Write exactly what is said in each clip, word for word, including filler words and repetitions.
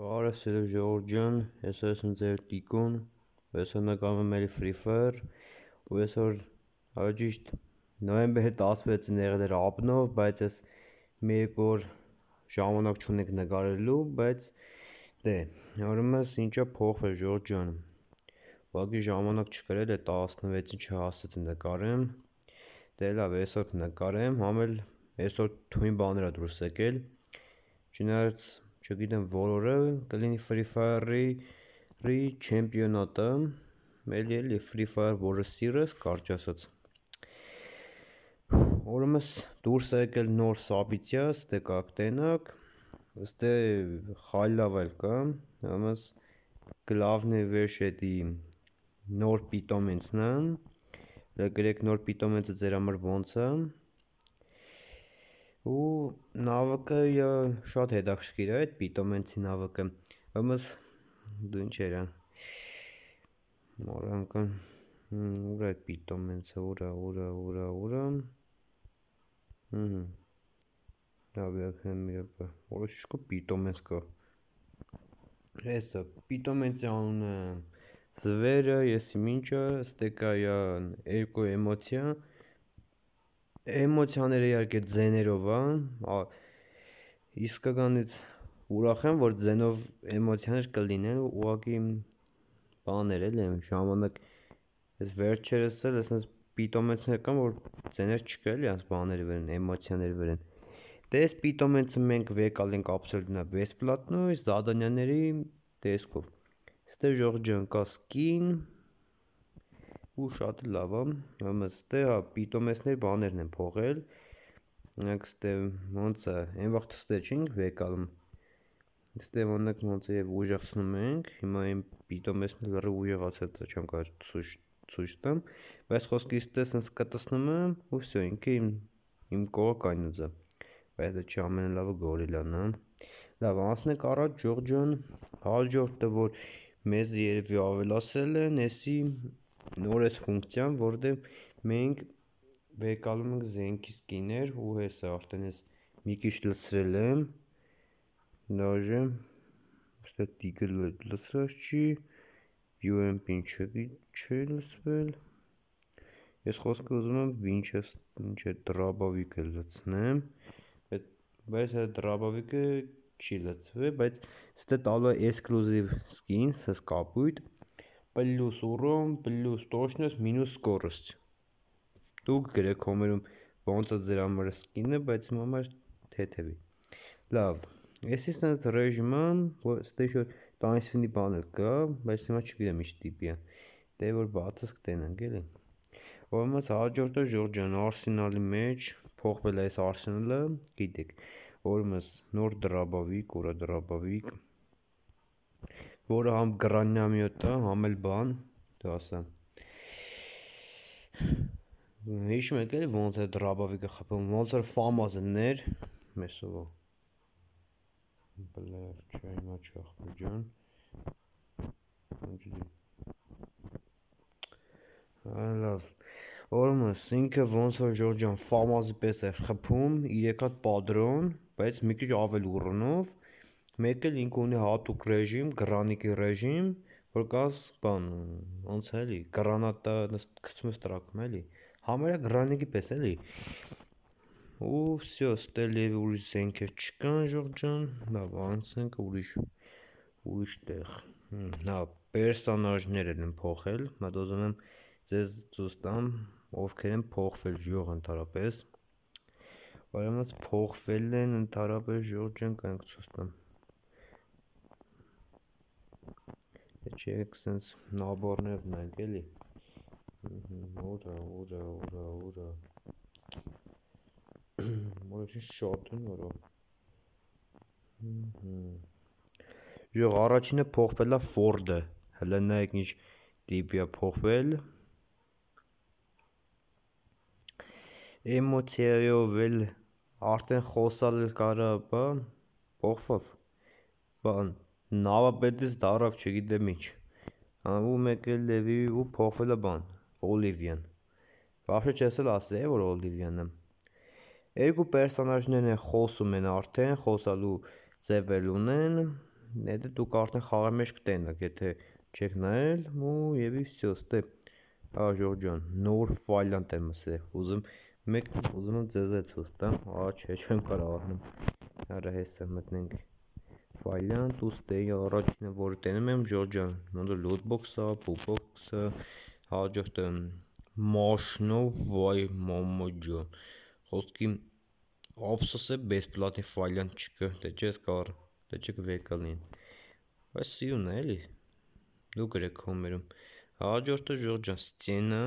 Բարև սիրելի ժողովուրդ ջան, ես եմ ձեր Տիկոն, այսօր նկարում եմ Free Fire, ու այսօր ճիշտ նոյեմբերի տասնվեցին եղել էր աբնով, բայց ես մի երկու օր ժամանակ չունենք նկարելու, բայց դե, ուրեմն ինչա փոխվել ժողովուրդ ջան, ուղղակի ժամանակ չկրել է տասնվեցին չհասցրեցի նկարեմ, դե լավ այսօր կնկարեմ, համել այսօր թույն բաներ ա դուրս եկել, չնայած չգիտեմ որորը կլինի Free Fire-ի չեմպիոնատը, էլի էլի Free Fire, որը սիրես, կարճ ասած։ Ուրեմն դուրս է եկել նոր սաբիցիա, ստե կակ տենակ, ստե խայլավ էլ կա, ուրեմն գլավնի վեշ էդի նոր պիտոմենցն է, գրեք նոր պիտոմենցը ձեր համար ոնց է, ու նավակը շատ հետաքրքիր է այդ պիտոմենցի նավակը, ուրեմն դու ինչ էր մորանքն, ուր է այդ պիտոմենցը, ուր է, ուր է, ուր է, ուր է, լավ եկեմ եպը, որոշ չկա պիտոմենց կա, հեսը, պիտոմենցի անունը զվերը, եսի մինչը, ստեկա երկու էմոցիա, էմոցիաները իհարկե ձեներով է, իսկականից ուրախ եմ, որ ձենով էմոցիաներ կլինեն, ուղղակի բաներ էլ եմ, ժամանակ, ես վերջերս էլ ես պիտոմենցներ կան, որ ձեներ չկա էլի անց բաների վրան, էմոցիաների վրան, դե ես պիտոմենցը մենք վեկալ ենք ապսոլուտնա բեսպլատնո, զադանյաների տեսքով, ստե ժողովուրդ ջան կա սկին, ու շատ լավ է, ստե պիտոմենցների բաներն են փողել, նայեք ստե ոնց է, այն վաղ ստե չենք վեկալում, ստե ոնք ոնց է և ուժեղցնում ենք, հիմա իմ պիտոմենցն լրիվ ուժեղացած է, չեմ կարող ցույց տամ, բայց խոսքի ստե սենց կտցնում եմ, ու վсё, ինքը իմ կողը կայնած է, բայց դա չի ամենալավը գորիլան է, լավ անցնենք առաջ ժողովուրդ ջան, հաջորդը որ մեզ երևի ավելացրել են, եսի նոր էս ֆունկցիան, որտեղ մենք վեկալում ենք զենքի սկիներ, ու հեսը արդեն ես մի քիչ լցրել եմ, դաժե, ստե տիկը լցրած չի, յու էմ պին չի լցվել, ես խոսքը ուզում եմ վինչեսթեր դրաբավիկը լցնեմ, բայց այդ դրաբավիկը չի լցվել, բայց ստե տալու է էքսկլյուզիվ սկին, սենց կապույտ, պլյուս ուրոմ, պլյուս տոշնոց, մինուս սկորոստ, դուք գրեք հոմերում ոնց է ձեր համար սկինը, բայց իմ համար թեթևի, լավ, եսի սենց ռեժիմը, ստե ինչ-որ տանիքսվինի բան էլ կա, բայց հիմա չգիտեմ ինչ տիպի է, դե որ բացս կտենանք էլի, ուրեմն հաջորդը ժողովուրդ ջան, արսենալի մեջ, փոխվել է այս արսենալը, գիտեք, ուրեմն նոր դրաբավիկ, ուր է դրաբավիկ, որը համ գրանյամյոտ է, համ էլ բան, դու ասա, հիշում եք էլի ոնց է դրաբավիկը խփում, ոնց որ ֆամազներ, մեսովա, բլեր, չէ հիմա չի ախպեր ջան, լավ, ուրեմն ինքը ոնց որ ժողովուրդ ջան ֆամազի պես է խփում, երեք հատ պատրոն, բայց մի քիչ ավել ուռնով, մեկ էլ ինքը ունի հատուկ ռեժիմ, գրանիկի ռեժիմ, որ կաս բան, ոնց է էլի, գրանատը գցում ես տրակում էլի, համարյա գրանիկի պես էլի, ու վсё, ստե լիևի ուրիշ զենքեր չկան ժողովուրդ ջան, լավ անցնենք ուրիշ, ուրիշ տեղ, լավ, պերսոնաժներ են փոխել, մատ ուզում եմ ձեզ ցույց տամ, ովքեր են փոխվել ժող ընդհանրապես, ուրեմն փոխվել են ընդհանրապես ժողովուրդ ջան, կանք ցույց տամ, չէ եք սենց նաբորներով նայենք էլի, ուրա, ուրա, ուրա, ուրա, որոշին շատ են որո, ժող առաջինը փոխվել է Ford-ը, հլը նայեք ինչ տիպի է փոխվել, էմոցիայով էլ արդեն խոսալ էլ կարա, բա, փոխվավ, բան, նավապետից դարավ չգիտեմ ինչ, ու մեկ էլ լևի ու փոխվել է բան, Օլիվիան, վախշե չես էլ ասել է, որ Օլիվիան է, երկու պերսոնաժներն են խոսում են արդեն, խոսալու ձև էլ ունեն, Հետո դուք արդեն խաղի մեջ կտենաք, եթե չեք նայել, ու եւ վсё, ստե։ Ա Ժորժան, նոր ֆայլանտ եմ ասել։ Ուզում մեկ ուզում եմ ձեզ էլ ցույց տամ, ա չէ, չեմ կարող առնում։ Արա հեսա մտնենք ֆայլանտ, ու ստե առաջինը որը տենում եմ Ժորժան, ոնց որ լոթբոքսը, փուփոքսը, հաջորդը մաշնով վայ մամա ջան։ Խոսքի ափսոս է բեսպլատի ֆայլանտ չկա, դե չես կարող, դե չկվեկալին։ Բայց սիրուն է էլի։ Դու գրեք կոմերում։ Հաջորդը Ժորժան ստենա,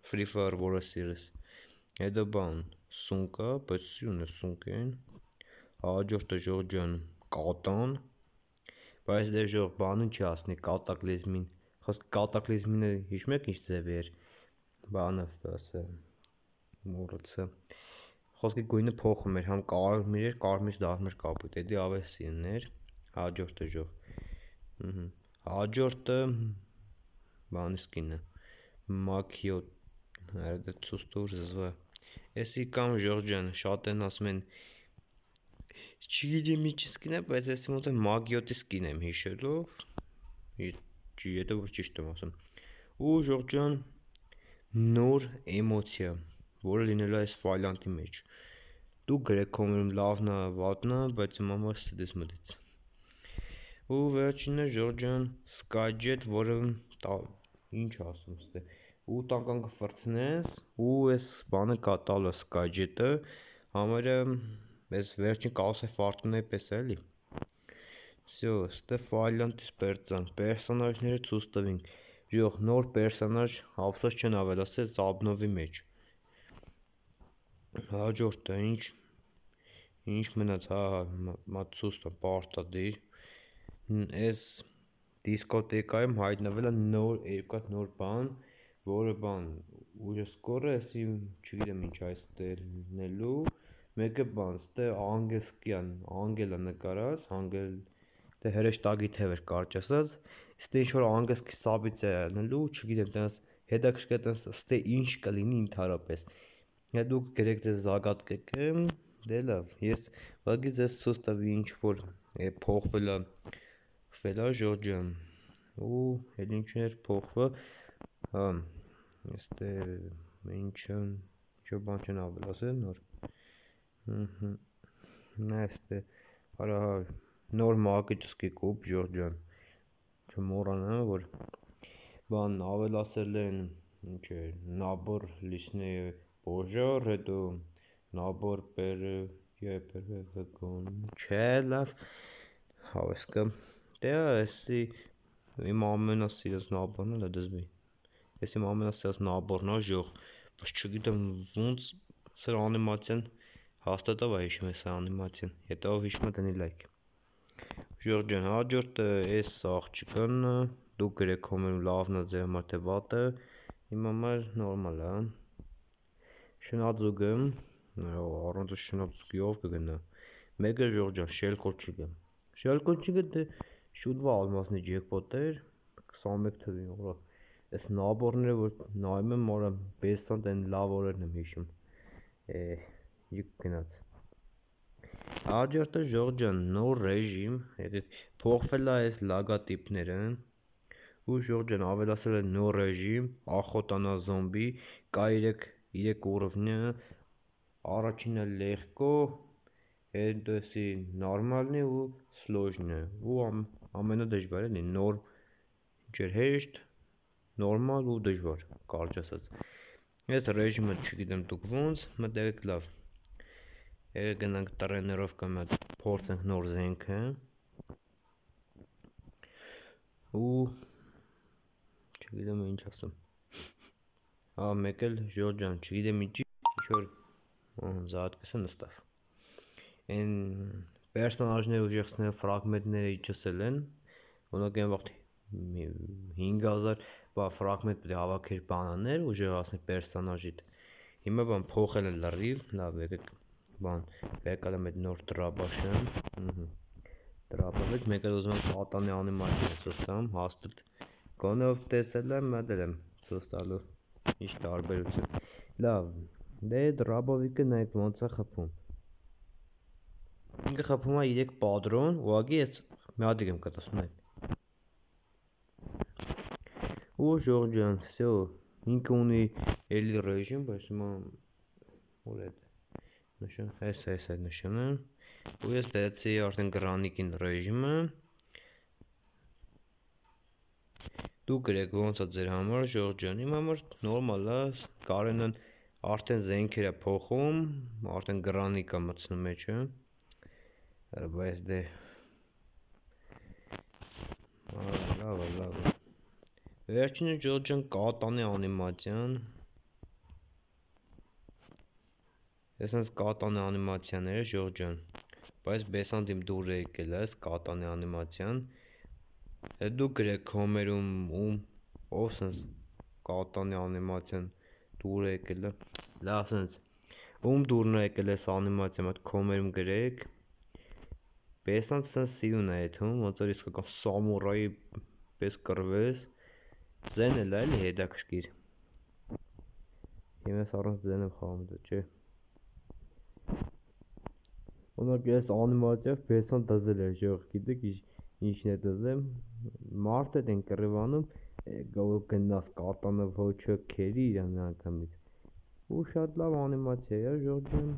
Free Fire որը սիրես։ Հետո բան, սունկա, բայց սիրուն է սունկեն։ Հաջորդը Ժորժան կատան, բայց դե ժող բանը չի ասնի կատակլիզմին։ Խոսք կատակլիզմինը հիշում եք ինչ ձև էր։ Բանը ասը մոռացա։ Խոսքի գույնը փոխում էր, համ կարմիր էր, կարմիրից դառնում էր կապույտ, էդի ավելի սիրուն էր։ Հաջորդը ժող։ Ահա։ Հաջորդը բանի սկինը։ Մաքիո, այդը ցուստուր զվա։ Էսի կամ Ժորժան, շատ են ասում են չգիտեմ ինչ սկին է, բայց էսի մոտ է մագիոտի սկին եմ հիշելով։ Չի, եթե որ ճիշտ եմ ասում։ Ու Ժորժան նոր էմոցիա, որը լինելու է այս ֆայլանտի մեջ։ Դու գրեք կոմերում լավն է, վատն է, բայց իմ համար ստից մտից։ Ու վերջինը Ժորժան Skyjet, որը ինչ ասում ստե։ Ու տանկան կֆրցնես, ու այս բանը կատալը Skyjet-ը, համարը այս վերջին կասե ֆարտունայի պես էլի։ Всё, ստե ֆայլանտից պերծան, պերսոնաժները ցույց տվինք։ Ժող նոր պերսոնաժ, ափսոս չեն ավելացել Zabnov-ի մեջ։ Հաջորդը ինչ ինչ մնաց, հա, մացուստը պարտադիր։ Այս դիսկոտեկայում հայտնվել է նոր երկու նոր բան, որը բան ուժը սկորը, էսի չգիտեմ ինչ այս տելնելու, մեկը բան, ստե անգելսկյան, անգելը նկարած, անգել դե հրեշտագի թև էր կարճ ասած, ստե ինչ որ անգելսկի սաբից է ելնելու, չգիտեմ, տես հետաքրքիր տես ստե ինչ կլինի ընդհանրապես։ Հետո դուք գրեք ձեզ զագատկեք, դե լավ, ես վագի ձեզ ցույց տվի ինչ որ փոխվել է, փոխվել է Ժորժան։ Ու էլ ինչներ փոխվա, հա, ստե ինչը ինչ բան չեն ավելացել նոր։ Ահա։ Նա ստե արա նոր մագիչսկի կուպ Ժորժան։ Չմոռանա որ բան ավելացել են ինչ է, նաբոր լիսնի Պոժար, հետո նաբոր պերևեկոն, չէ լավ, հավեսկը, դե էսի իմ ամենասիրած նաբորն էլ է դզվի, ես իմ ամենասիրած նաբորն է ժող, բայց չգիտեմ ոնց սր անիմացիան հաստատով է հիշում ես անիմացիան, հետո հիշում է տնի լայք։ Ժորժան, հաջորդը ես աղջիկան, դու գրեք կոմերում լավն է ձեր համար թե վատը, իմ համար նորմալ է։ Շնաձուգը, առանց շնաձուգի ով կգնա։ Մեկը Ժորժան, շելկոչիկը։ Շելկոչիկը դե շուտվա ալմասնի ջեկպոտ էր, քսանմեկ թվի օրա։ Այս նաբորները որ նայում եմ, օրա բեսանտ են լավ օրերն եմ հիշում։ Է, յուկ գնաց։ Հաջորդը Ժորժան, նոր ռեժիմ, եկեք փոխվել է այս լագատիպները։ Ու Ժորժան ավելացել է նոր ռեժիմ, ախոտանա զոմբի, կա երեք ուռովնյա, առաջինը լեգկո, հետո էսի նորմալնի ու սլոժնը, ու ամենադժվարն է նոր ինչ հեշտ, նորմալ ու դժվար, կարճ ասած։ Ես ռեժիմը չգիտեմ դուք ոնց, մտեք լավ։ Եկեք գնանք տրեներովկա մեծ փորձենք նոր զենքը։ Ու չգիտեմ ինչ ասեմ։ Հա մեկ էլ Ժորժան, չգիտեմ ինչի, ինչ-որ զատկեսը նստավ։ Են պերսոնաժները ուժեղցնելու ֆրագմենտները իջեցել են, օրինակ այն վաղտ հինգ հազար բա ֆրագմենտ պետք է հավաքեր բանաներ ուժեղացնել պերսոնաժիդ։ Հիմա բան փոխել են լրիվ, լավ եկեք բան, եկալ եմ այդ նոր տրաբաշը, ըհը։ Տրաբավեց, մեկ էլ ուզում եմ պատանի անիմացիա ցույց տամ, հաստատ գոնով տեսել եմ, մտել եմ ցույց տալու։ Ինչ տարբերություն։ Լավ, դե դրաբովիկը նայեք ոնց է խփում։ Ինքը խփում է երեք պատրոն, ուղղակի այս մի հատիկ եմ կտասում այդ ու Ժորժ ջան, всё, ինքը ունի էլի ռեժիմ, բայց հիմա ուր է նշան, այս այս այդ նշանը ու ես դրեցի արդեն Granny-ին ռեժիմը դու գրեք ոնց է ձեր համար Ժորժ ջան, իմ համար նորմալ է, Կարենն արդեն զենքեր է փոխում, արդեն Granny կա մտցնում մեջը բայց դե լավ է, լավ է վերջինը Ժորժ ջան կատանի անիմացիան Ես հենց կատանի անիմացիաները Ժորժ ջան, բայց բեսանտիմ դուր է եկել այս կատանի անիմացիան դու գրեք կոմերում ում ով սենց կատանի անիմացիան դուր է եկել լավ սենց ում դուրն է եկել այս անիմացիան այդ կոմերում գրեք բեսանտ սենց սիրուն է եթում ոնց որ իսկական սամուրայի պես կռվես ձեն էլ է էլի հետաքրքիր Եմ ես առանց ձենով խաղում դա չէ Օրինակ ես անիմացիայով բեսան դզել էր ժող գիտեք ինչն է դզեմ մարդ է դեն կռվանում գնաս կատանով ոչը քերի իրան անգամից ու շատ լավ անիմացիա է ժող ջան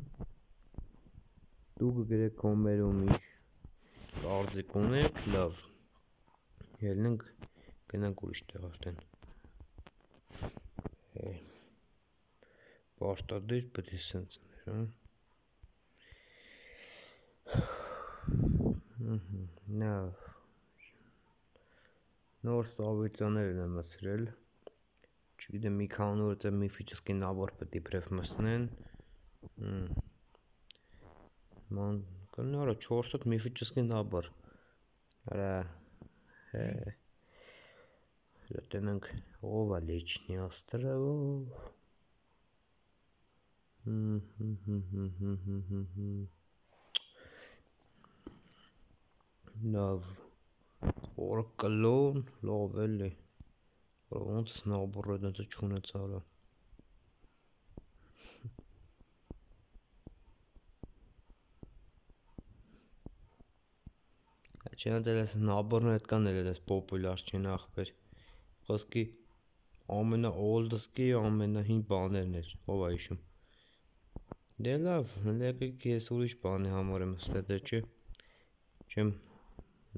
դու կգրեք կոմերում ինչ կարծիք ունեք լավ ելնենք գնանք ուրիշ տեղ արդեն Պարտադիր պետք է սենց Նա նոր սավիցաներ եմ մսրել չգիտեմ մի քանի օր է միֆический набор պետք է իբրև մսնեն ման կնորա չորս հատ միֆический набор արա Տնենք ով է լիչնի остров Լավ Օրը կլոն լավ էլի ոնց նաբորը դենց չունեց արա Չեն դերես նաբորն այդ կան էլ ես պոպուլար չեն ախպեր Խոսքի ամենա օլդսկի ամենա հին բաներն էր ով է հիշում Դե լավ եկեք ես ուրիշ բանի համար եմ ստե դե չէ չեմ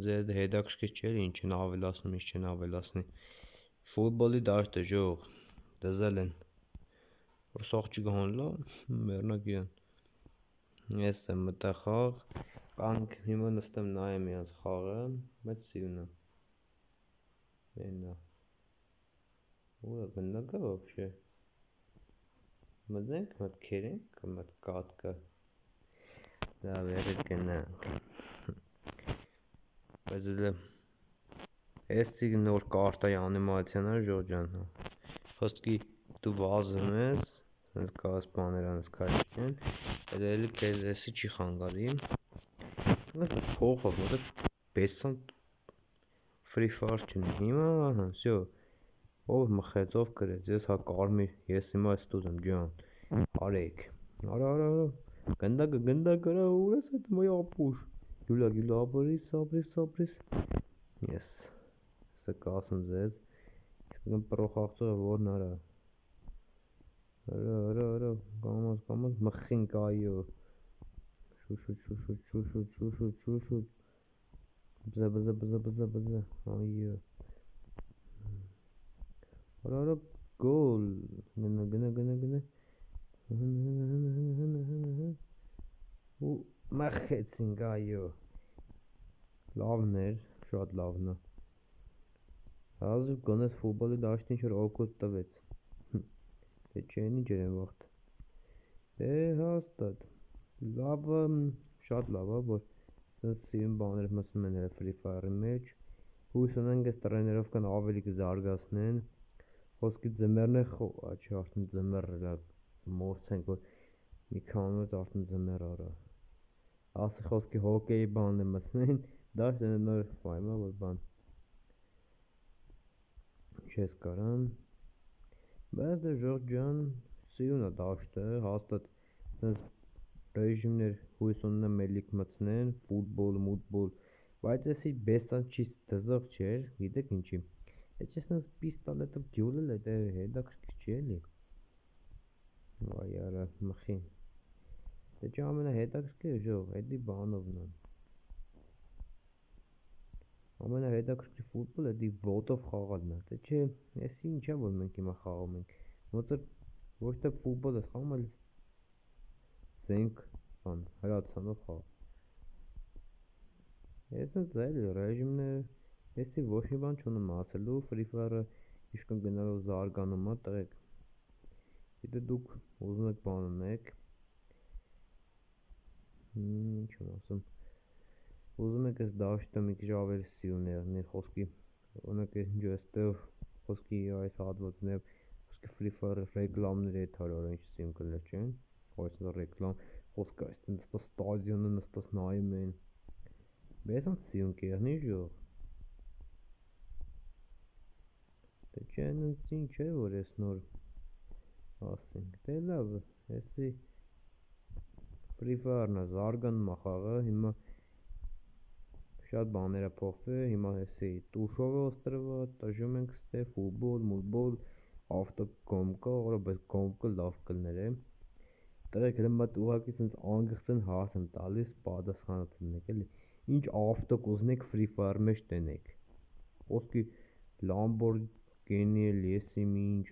ձեր հետաքրքիր չէ ինչ են ավելացնում ինչ չեն ավելացնի Ֆուտբոլի դաշտը ժող դզել են որ սաղ չգան լավ մեռնակ իրան ես եմ մտա խաղ կանք հիմա նստեմ նայեմ իրանց խաղը բայց սիրուն է Մենա Ուրա գնդակա вообще Մտնենք մտ քերենք մտ կատկա Լավ եղեք գնանք Բայց էլ Էստի նոր կարտայի անիմացիան է ժող ջան Խոսքի դու վազում ես Սենց կաս բաներ անես քաշքեն Էլ էլի կեզ էսի չի խանգարի Փոխով մոտը բեսանտ Free Fire չունի Հիմա ահա всё Ով մխեց ով գրեց ես հա կարմիր ես հիմա ստուզ եմ ջան Արեք Արա արա արա Գնդակը գնդակը արա ուր ես այդ մոյ ապուշ Գյուլա գյուլա ապրիս ապրիս ապրիս Ես Սա կասեմ ձեզ Իսկական պրոխաղցողը որն արա Արա արա արա Կամաս կամաս մխին կայո Շուշուտ շուշուտ շուշուտ շուշուտ շուշուտ Բզա բզա բզա բզա բզա Այո Արա արա գոլ Գնա գնա գնա գնա Ու մխեցինք այո Լավն էր շատ լավն է Հազիվ գոնես ֆուտբոլի դաշտին ինչ-որ օգուտ տվեց Դե չեն ինչ էր են վաղթ Դե հաստատ Լավը շատ լավ է որ Սենց սիրուն բաներ մսնում են Free Fire-ի մեջ Հույս ունենք ես տրեներովկան ավելի կզարգացնեն Խոսքի ձմեռն է Աչի արդեն ձմեռ մորցենք որ մի քանի օր արդեն ձմեռ արա Ասի խոսքի հոկեի բանն է մսնեն Դաշտ են նոր ֆայմա որ բան Չես կարան Բայց դե ժող ջան Սիրուն է դաշտը հաստատ Սենց ռեժիմներ հույս ունեմ էլիք մցնեն Ֆուտբոլ, մուտբոլ Բայց էսի բեսանչից դզող չէր, գիտեք ինչի։ Է չեսնս պիստոլետով ջուլել է, դե հետաքրքիր չի էլի։ Վայ արա մխին։ Դե չէ ամենահետաքրքիրը ժող, էդի բանովն է։ Ամենահետաքրքիր ֆուտբոլը էդի ոտով խաղալն է։ Դե չէ, էսի ինչա որ մենք հիմա խաղում ենք։ Ոնց որ ոչ թե ֆուտբոլ է խաղում, այլ զենք բան, հրացանով խաղ։ Էսենց էլի ռեժիմն է, էսի ոչ մի բան չունեմ ասելու, Free Fire-ը իշքան գնալով զարգանում է, տղեկ։ Գիտե դուք ուզում եք բան ունեք, ինչ եմ ասում, ուզում եք այս դաշտը մի քիչ ավելի սիրուն եղնի, խոսքի, օրինակ ինչ էստեղ խոսքի այս հատվածն է, խոսքի Free Fire-ը ռեկլամներ է թարար, ինչ սիրուն կլներ չեն, այս ռեկլամ, խոսքը այս նստած ստադիոնը նստած նայում են, բեսանց սիրուն կեղնի ժող։ Դե չէ նենց ինչ է, որ ես նոր ասենք, դե լավ, էսի Free Fire-ն է, զարգանում է խաղը, հիմա շատ բաներ է փոխվել, հիմա էսի տուշով է օստրված, տժում ենք ստե, ֆուտբոլ, մուտբոլ, ավտոկոմկա, օրա բայց կոմկը լավ կլներ է։ Տղեկ հենց մատ ուղղակի սենց անգղծեն հարց եմ տալիս, պատասխանը տնեք էլի, ինչ ավտո կուզնեք Free Fire մեջ տնեք։ Խոսքի Lamborghini էլ եսի ինչ։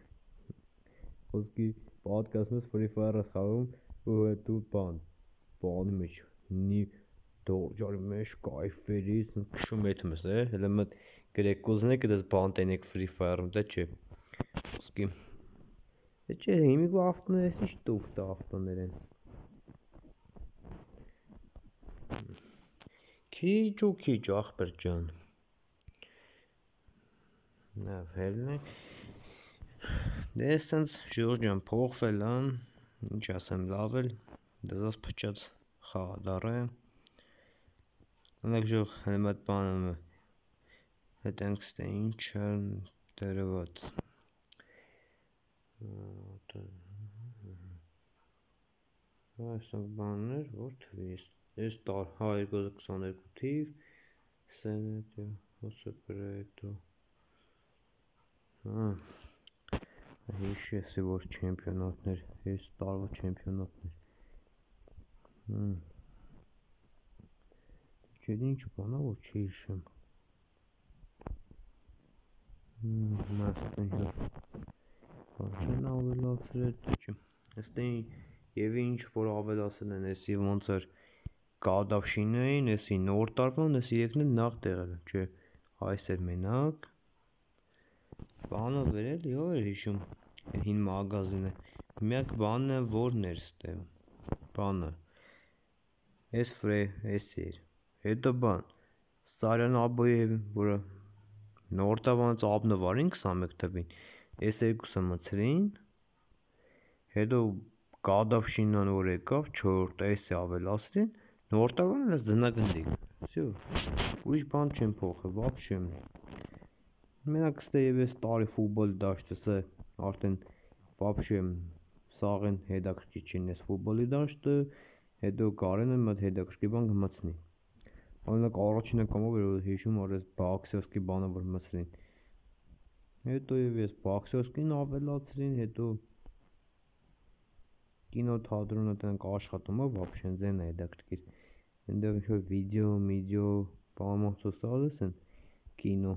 Խոսքի պատկասում ես Free Fire-ը խաղում ու հետո բան, բանի մեջ նի դորջարի մեջ կայֆերի, քշում եթում ես, է, հələ մտ գրեք կուզնեք դες բան տնեք Free Fire-ում, դե չէ։ Խոսքի Դե չէ, հիմիկվա ավտոներ ես ինչ տուֆտ ավտոներ են։ Քիչ ու քիչ ախպեր ջան։ Լավ հելնեք։ Դե սենց ժոր ջան փոխվել ան, ինչ ասեմ լավ էլ, դեզաս փչած խաղադար է։ Անակ ժող հենց այդ բանը հետենք ստե ինչ են դերված։ Այսօր բաններ, որ թվիս, ես տար երկու հազար քսաներկու թիվ, սենետը, հոսեպրետո, հիշի եսի որ չեմպիոնատներ, ես տարվա չեմպիոնատներ, չեդ ինչ բանա, որ չի հիշեմ, մաստեն ժոր, չեն ավելացրել, դե չեմ, եստեն և ինչ որ ավելասել են, եսի ոնց էր կադավշին էին, եսի նոր տարվան, եսի եկնել նախ տեղել, չէ, այս էր մենակ, բանը վերել, ով էր հիշում, հին մագազին է, միակ բանն է, որն էր ստե, բանը, ես վրե, ես էր, հետո բան, Սարյան աբոյև, որը նոր տավանց աբնվարին քսանմեկ թվին, ես երկուսը մցրին, հետո կադավշինան որ եկավ, չորրորդը էսի ավելասրին, նոր տավան ես ձնագնդիկ, վсё, ուրիշ բան չեմ փոխել, վաբշե, մենակ ստե և ես տարի ֆուտբոլ դաշտս է, արդեն վաբշե, սաղեն հետաքրքիր չին ես ֆուտբոլի դաշտը, հետո կարեն եմ այդ հետաքրքիր բան կմցնի, օրինակ առաջին անգամով էր որ հիշում որ ես բաքսերսկի բանը որ մցրին, հետո և ես բաքսերսկին ավելացրին, հետո կինոթատրոնը տնենք աշխատում է, վաբշե ձեն է հետաքրքիր, ընդեղ ինչ-որ վիդեո, միդեո, բանամացոս տալիս են, կինո,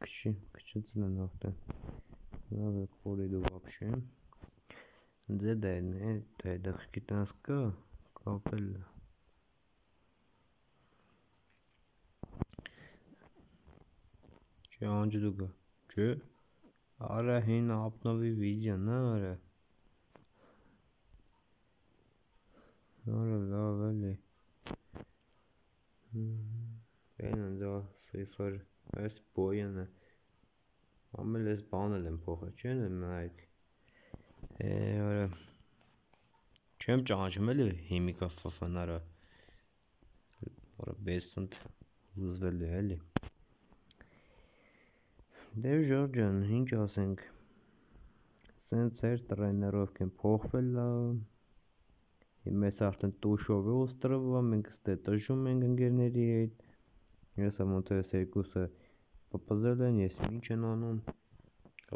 քչի, քչեցել են արդեն, լավ է կորի դու վաբշե, ձե դա են է, դա հետաքրքիր տնաս կա, կապել է, Չէ անջդուգա, չէ, արա հին ապնովի վիդյան, արա, արա լավ էլի, բեն են դա Free Fire, այս բոյան է, ամել ես բանել եմ փոխը, չեն եմ նայք, է, արա, չեմ ճանչում էլի հիմիկա ֆվն արա, արա բեսնտ ուզվել է էլի, դե ժոր ջան, ինչ ասենք, սենց էր տրեներով կեն փոխվել լավ, Մեզ արդեն տուշով է օստրովը, մենք ստե տժում ենք ընկերների հետ։ Ես ոնց է երկուսը պպզել են, ես ինչ են անում։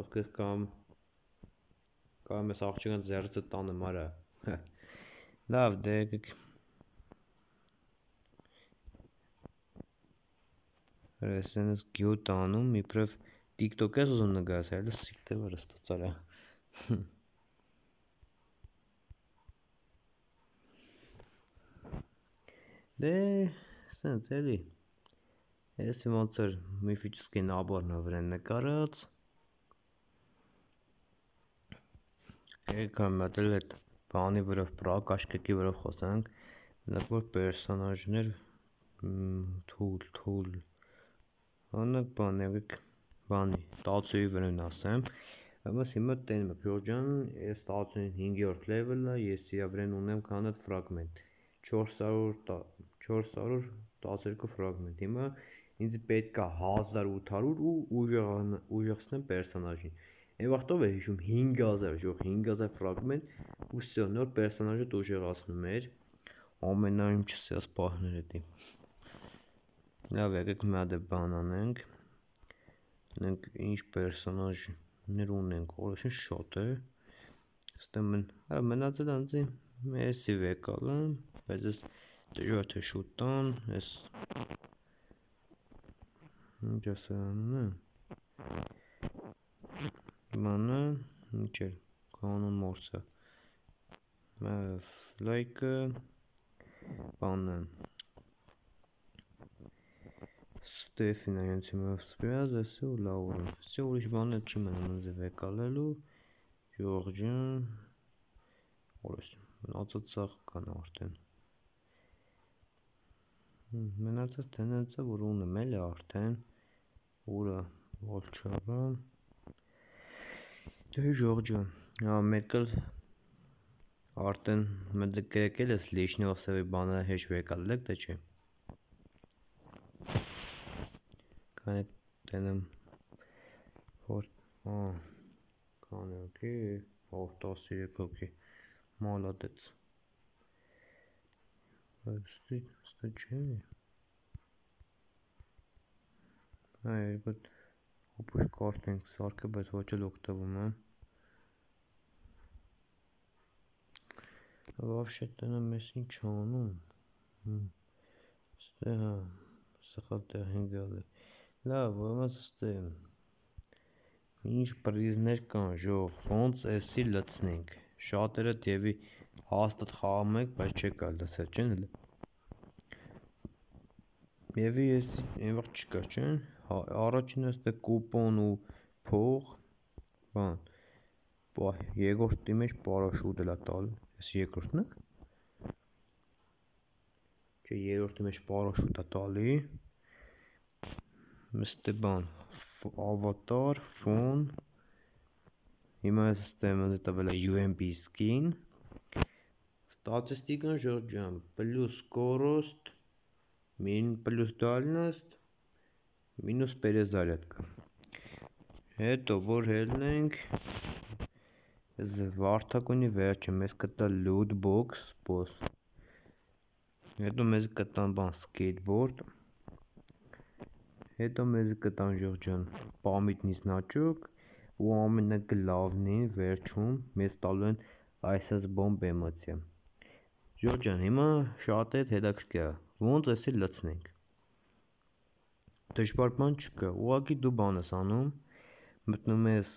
Ովքեր կամ կամ ես աղջիկան ձեռքը տանեմ արա։ Լավ, դե եկեք։ Ռեսենս գյուտ անում, իբրև TikTok ես ուզում նկարես, այլ սիկտե վրս տծարա։ Դե, սենց էլի։ Ես ոնց էր միֆիչեսկի նաբորն վրան նկարած։ Եկա մտել այդ բանի վրա, պրակաշկեկի վրա խոսանք, մենակ որ պերսոնաժներ թուլ, թուլ։ Անակ բան եկեք բանի, տացուի վրան ասեմ։ Ամաս հիմա տենում եք, Ժորջան, ես տասնհինգերորդ լևելն է, ես իրա վրան ունեմ քանդ ֆրագմենտ։ չորս հարյուր տասներկու ֆրագմենտ։ Հիմա ինձ պետք է հազար ութ հարյուր ու ուժեղացնեմ պերսոնաժին։ Այն վաղտով է հիշում հինգ հազար, ժող հինգ հազար ֆրագմենտ ու всё, նոր պերսոնաժը ուժեղացնում էր։ Ամենայնիմ չսես պահներ էդի։ Լավ, եկեք մի հատ բան անենք։ Մենք ինչ պերսոնաժներ ունենք, օրոշն շատ է։ Ստեմ արա մնացել անձի մեսի վեկալը, բայց ես դժվար թե շուտան, ես ինչ ասանում է։ Մանա, ինչ էր, կանոն մորցա։ Լայքը բանը Ստեֆինա հենց հիմա սպյազես ու լավուրը։ Всё ուրիշ բաներ չի մնում ինձ վեկալելու։ Ժորջան օրես մնացած սաղ կան արդեն։ Մնացած տենենցը որ ունեմ էլ է արդեն ուրա Վոլչարը դե Ժորջան հա մեկը արդեն մենք եկել ես լիշնիոսի բանը հեշ վեկալեք դե չէ կանեք տենեմ որ հա կանեքի հորտասիրեք հոգի մալադեց Ստի, ստի չէ։ Այ գոտ հոպուշ կարտ ենք սարքը, բայց ոչ էլ օգտվում եմ։ Вообще տենամ ես ինչ անում։ Ստե հա, սխալ տեղ են գալի։ Լավ, ոնց ստե։ Ինչ պրիզներ կան, ժող, ոնց էսի լցնենք։ Շատերը դեպի հաստատ խաղում եք, բայց չեք կարելի լսել, չեն էլ։ Եվի ես այնվաղ չկա, չեն։ Առաջինը ստե կուպոն ու փող, բան։ Բա երկրորդի մեջ պարաշուտ էլ է տալ, ես երկրորդն է։ Չէ, երրորդի մեջ պարաշուտ է տալի։ Մստե բան, ավատար, ֆոն։ Հիմա ես ստեմ տվել է յու էմ պի skin։ Статистика Ժորջան, плюс скорость, плюс дальность, минус перезарядка։ Հետո որ հելնենք վարդակունի վերջը մեզ կտա loot box, boss։ Հետո մեզ կտան բան skateboard։ Հետո մեզ կտան Ժորջան պամիտնի значок ու ամենագլավնին վերջում մեզ տալու են այսպես բոմբ էմոցիա։ Ժորջան, հիմա շատ է հետաքրքիր է, ոնց էսի լցնենք։ Դժվար բան չկա, ուղղակի դու բան ես անում, մտնում ես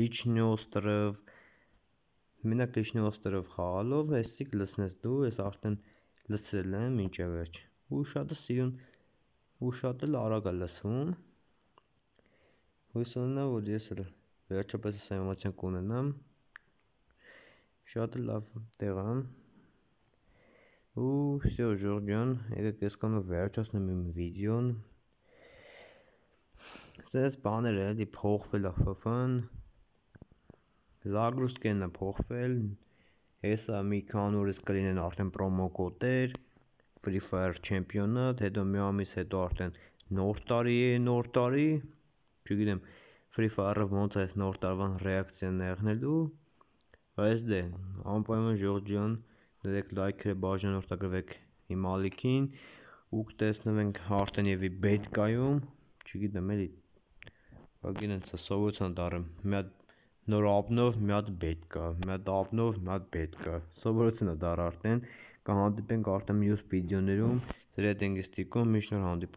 Լիչնի օստրով, մենակ Լիչնի օստրով խաղալով, էսի կլցնես դու, ես արդեն լցրել եմ, ինչ է վերջ։ Ու շատը սիրուն, ու շատ էլ արագ է լցվում։ Հույս ունենամ, որ ես էլ վերջապես այս էմոցիան կունենամ։ Շատ լավ տեղ է։ Ու всё, Ժորջան, եկեք այսքանով վերջացնեմ իմ վիդեոն։ Սես բաներ էլի փոխվել է ֆ-ն։ Զագրուսկեն է փոխվել։ Հեսա մի քանի օրից կլինեն արդեն պրոմո կոդեր, Free Fire չեմպիոնատ, հետո մի ամիս հետո արդեն նոր տարի է, նոր տարի։ Չգիտեմ, Free Fire-ը ոնց է նոր տարվան ռեակցիան եղնելու։ Բայց դե, անպայման Ժորջան դրեք լայքերը, բաժանորդագրվեք իմ ալիքին ու կտեսնվենք Արտենևի բետկայում, չգիտեմ էլի, գինենց սովորության դառը, մի հատ նոր աբնով մի հատ բետկա, մի հատ աբնով մի հատ բետկա, սովորություն է դառը Արտեն, կհանդիպենք արդեն մյուս վիդեոներում, ձեր հետ ենք ստիպում, մինչ նոր հանդիպում։